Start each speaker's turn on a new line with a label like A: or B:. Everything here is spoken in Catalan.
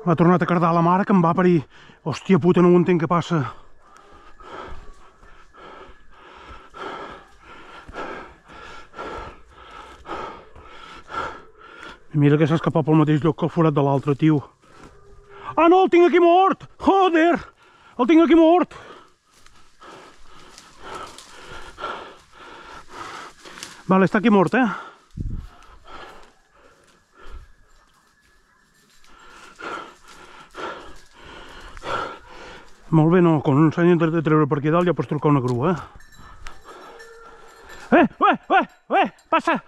A: M'ha tornat a cardar la mare que em va parir. Hòstia puta, no ho entenc què passa. Mira que s'ha escapat pel mateix lloc que el forat de l'altre, tio. Ah, no, el tinc aquí mort! Joder! El tinc aquí mort! Vale, està aquí mort, Molt bé, no, quan un s'ha de treure per aquí dalt ja pots trucar una grua, Passa!